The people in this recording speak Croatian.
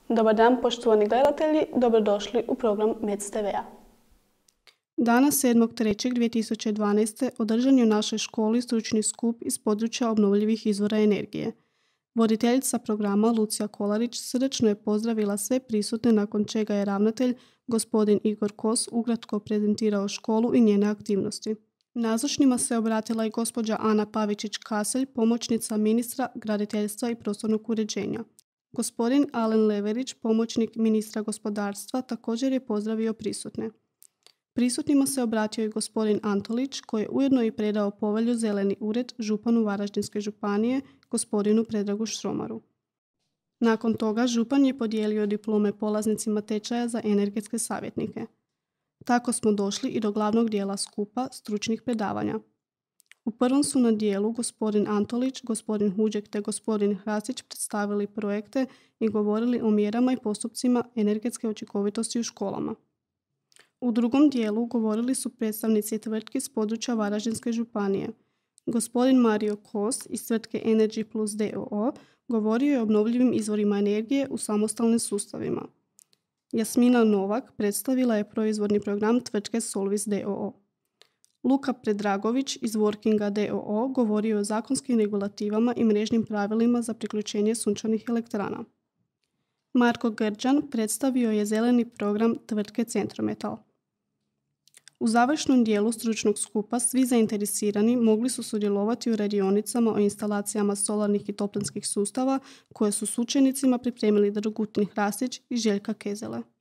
Dobar dan, poštovani gledatelji, dobrodošli u program MEC TV-a. Dana 7.3.2012. održan je u našoj školi stručni skup iz područja obnovljivih izvora energije. Voditeljica programa Lucija Kolarić srdačno je pozdravila sve prisutne, nakon čega je ravnatelj, gospodin Igor Kos, ukratko prezentirao školu i njene aktivnosti. Nazočnima se obratila i gospođa Ana Pavičić-Kaselj, pomoćnica ministra graditeljstva i prostornog uređenja. Gospodin Alen Leverić, pomoćnik ministra gospodarstva, također je pozdravio prisutne. Prisutnima se obratio i gospodin Antolić, koji je ujedno i predao povelju Zeleni ured županu Varaždinske županije, gospodinu Predragu Štromaru. Nakon toga župan je podijelio diplome polaznicima tečaja za energetske savjetnike. Tako smo došli i do glavnog dijela skupa stručnih predavanja. U prvom su na dijelu gospodin Antolić, gospodin Huđek te gospodin Hrasić predstavili projekte i govorili o mjerama i postupcima energetske učinkovitosti u školama. U drugom dijelu govorili su predstavnici tvrtki s područja Varaždinske županije. Gospodin Mario Kos iz tvrtke Energy Plus d.o.o. govorio je o obnovljivim izvorima energije u samostalnim sustavima. Jasmina Novak predstavila je proizvodni program tvrtke Solvis d.o.o. Luka Predragović iz Workinga d.o.o. govorio o zakonskim regulativama i mrežnim pravilima za priključenje sunčanih elektrana. Marko Grđan predstavio je zeleni program tvrtke Centrometal. U završnom dijelu stručnog skupa svi zainteresirani mogli su sudjelovati u radionicama o instalacijama solarnih i toplinskih sustava koje su s učenicima pripremili Dragutin Hrasić i Željka Kezele.